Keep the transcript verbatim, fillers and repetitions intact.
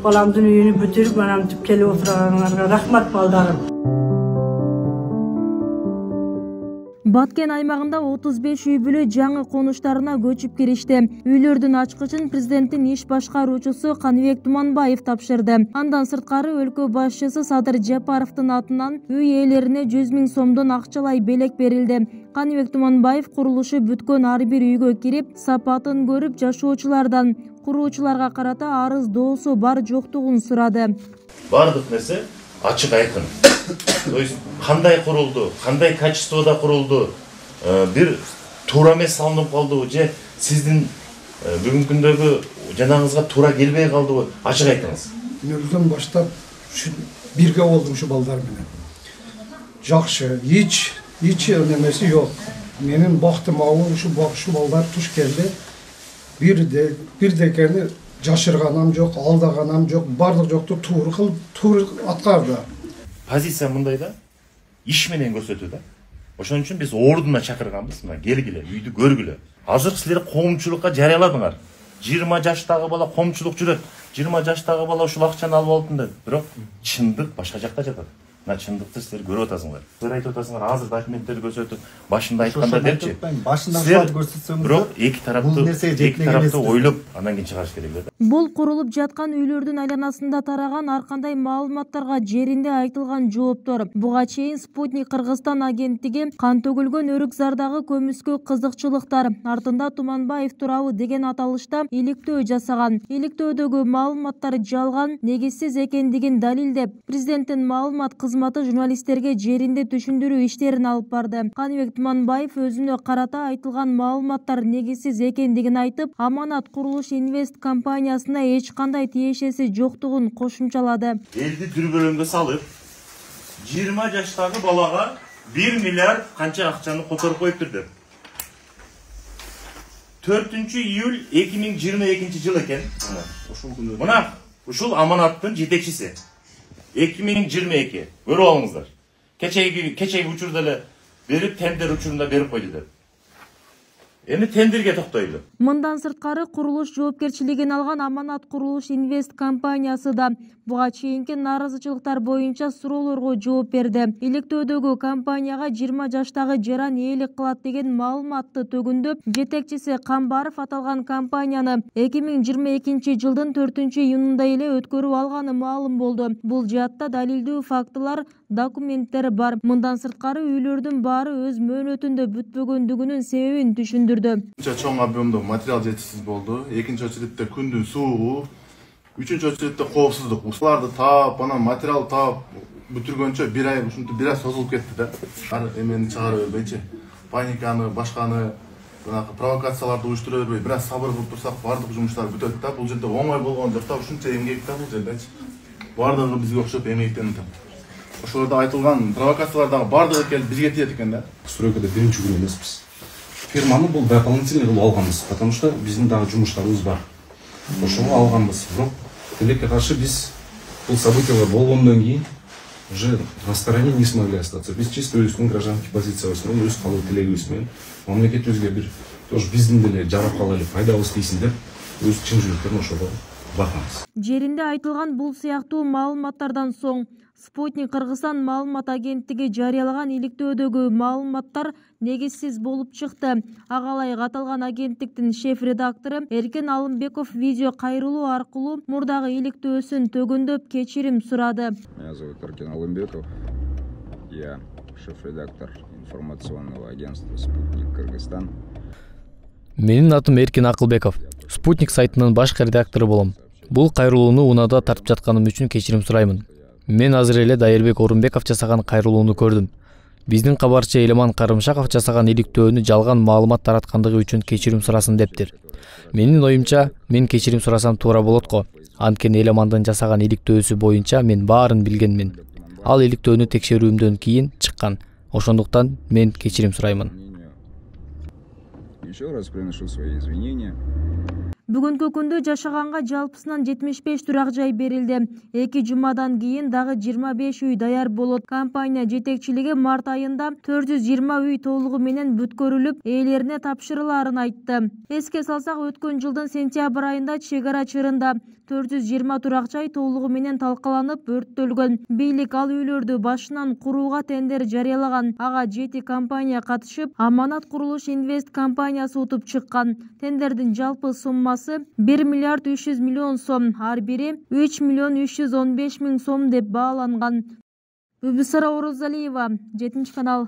Balamdın үйünü бүтүрүп, анан түп келип отургандарга рахмат балдарым. Баткен аймагында отуз беш үй бүлө жаңы конуштарына көчүп киришти. Үйлөрдүн ачкычын президенттин иш башкаруучусу Каныбек Туманбаев тапшырды. Андан сырткары өлкө башчысы Садыр Жапаровдун атынан үй ээлерине жүз миң сомдон акчалай белек берилди. Каныбек Туманбаев курулушу бүткөн ар бир үйгө кирип, сапатын көрүп, жашоочулардан куруучуларга карата арыз доосу бар жоктугун сурады. Бардык нерсе ачык айкын. То есть кандай курулду, кандай качествода курулду, бир туура эмес салынып калдыбы же сиздин бүгүнкү күндөгү жанагыңызга туура келбей калдыбы, ачык айтыңыз. Нөлдөн баштап бирге болдум ушу балдар менен. Жакшы, эч эч немеси жок. Менин бактым ауыр ушу ушу балдар туш келди. Бирде бирдекени жашырганам жок, алдаганам жок, бардык жокту туура кылып, туура аткарды. Позиция мындай да, иш менен көрсөтүү да. Ошон үчүн биз ордуна чакырганбыз, мына келгиле, үйдү көргүлө. Азыр силер коомчулукка жарыяладыңар. жыйырма жаштагы бала коомчулук жүрөт. жыйырма жаштагы бала ушул акчаны алып алдым деп. Бирок чындык башка жакта жатат. Мына чындыкты силер көрүп атасыңар. Силер айтып атасыңар, азыр документтерди көрсөтүп, башында айтканда депчи. Башында ушуларды көрсөтсөңүз, бирок эки тараптуу эки тараптуу ойлоп, анан кийин чыгарыш керек эле да. Бул курулуп жаткан үйлөрдүн айланасында тараган ар кандай маалыматтарга жеринде айтылган жооптор. Буга чейин Спутник Кыргызстан агенттиги кан төгүлгөн Өрүкзардагы көмүскө кызыкчылыктар артында Туманбаев туурабы деген аталышта иликтөө жасаган. Иликтөөдөгү маалыматтар жалган, негизсиз экендигин далилдеп, президенттин маалымат кызматы журналисттерге жеринде түшүндүрүү иштерин алып барды. Каныбек Туманбаев өзүнө карата айтылган маалыматтар негизсиз экендигин айтып, Аманат Курулуш Инвест компаниясына эч кандай тиешеси жоктугун кошумчалады. Элди дүрбөлөңгө салып, жыйырма жаштагы балага бир миллиард канча акчаны которуп коюптур деп. төртүнчү июль эки миң жыйырма экинчи жыл экен. Мына ушул Аманаттын жетекчиси. эки миң жыйырма эки. Көрүп алыңыздар. Кечеги кечеги учурда эле берип, тендер учурунда берип койду деп. Эми тендерге токтойлу. Мындан сырткары курулуш жоопкерчилигин алган Аманат Курулуш Инвест компаниясы да буга чейинки нааразычылыктар боюнча суроолорго жооп берди. Иликтөөдөгү компанияга жыйырма жаштагы жаран ээлик кылат деген маалыматты төгүндөп, жетекчиси Камбаров аталган компанияны эки миң жыйырма экинчи жылдын төртүнчү июнунда эле өткөрүп алганы маалым болду. Бул жаатта далилдүү фактылар, документтер бар. Мындан сырткары үйлөрдүн баары өз мөөнөтүндө бүтпөгөндүгүнүн себебин түшүндүрдү. Чоң объемдо материал жетишсиз болду. Экинчи очередте күндүн суугу, үчүнчү очередте коопсуздук. Ушуларды таап, анан материал таап бүтүргөнчө бир ай, ушинтип бир ай созулуп кетти да. Ар эмени чыгара бербейчи, паниканы, башканы, мынакы провокацияларды уюштура бербей, бир аз сабыр кылып турсак, бардык жумуштар бүтөт да. Бул жерде оңой болгон жок да, ушунча эмгек да бул жердечи. Бардыгы бизге окшоп эмгектенди. Ошолордо айтылган провокациялардагы бардыгы келип бизге тиет экен да. Стройкада биринчи күн эмеспиз. Фирманы бул дополнительный кылып алганбыз, потому что биздин дагы жумуштарыбыз бар. Ошого алганбыз. Бирок тилекке каршы биз бул событиялар болгондон кийин уже на стороне не смогли остаться. Биз чисто өзүбүздүн гражданский позициябыз менен, өз калуу тилегибиз менен мамлекетибизге бир тоже биздин деле жарап калайлы, пайдабыз тийсин деп өз чын жүрөктөрүн ошого бакабыз. Жеринде айтылган бул сыяктуу маалыматтардан соң Спутник Кыргызстан маалымат агенттиги жарыялаган иликтөөдөгү маалыматтар негизсиз болуп чыкты. Агалайык аталган агенттиктин шеф-редактору Эркен Алымбеков видео кайрылуу аркылуу мурдагы иликтөөсүн төгүндөп кечирим сурады. Меня зовут Эркен Алымбеков. Я шеф-редактор информационного агентства «Спутник Кыргызстан». Менин атым Эркен Акылбеков. Спутник сайтынын башкы редактору болом. Бул кайрылууну унаада тартып жатканым үчүн кечирим сураймын. Мен азыр эле Дайырбек Орунбеков жасаган кайрылууну көрдүм. Биздин кабарчы Элеман Карымшаков жасаган иликтөөнү жалган маалымат тараткандыгы үчүн кечирим сурасын дептир. Менин оюмча, мен кечирим сурасам туура болот го. Анткени Элемандын жасаган иликтөөсү боюнча мен баарын билгенмин. Ал иликтөөнү текшерүүмдөн кийин чыккан. Ошондуктан мен кечирим сураймын. Еще раз приношу свои извинения. Бүгүнкү күндө жашаганга жалпысынан жетимиш беш турак жай берилди. Эки жумадан кийин дагы жыйырма беш үй даяр болот. Компания жетекчилиги март айында төрт жүз жыйырма үй толугу менен бүткөрүлүп, ээлерине тапшырылаарын айтты. Эске салсак, өткөн жылдын сентябрь айында чек ара чырында төрт жүз жыйырма турак жай толугу менен талкаланып, өрттөлгөн. Бийлик ал үйлөрдү башынан курууга тендер жарыялаган. Ага жети компания катышып, Аманат Курулуш Инвест компаниясы утуп чыккан. Тендердин жалпы суммасы бир миллиард үч жүз миллион сом, ар бири үч миллион үч жүз он беш миң сом деп бааланган. Бүбүсара Орозалиева, жетинчи канал.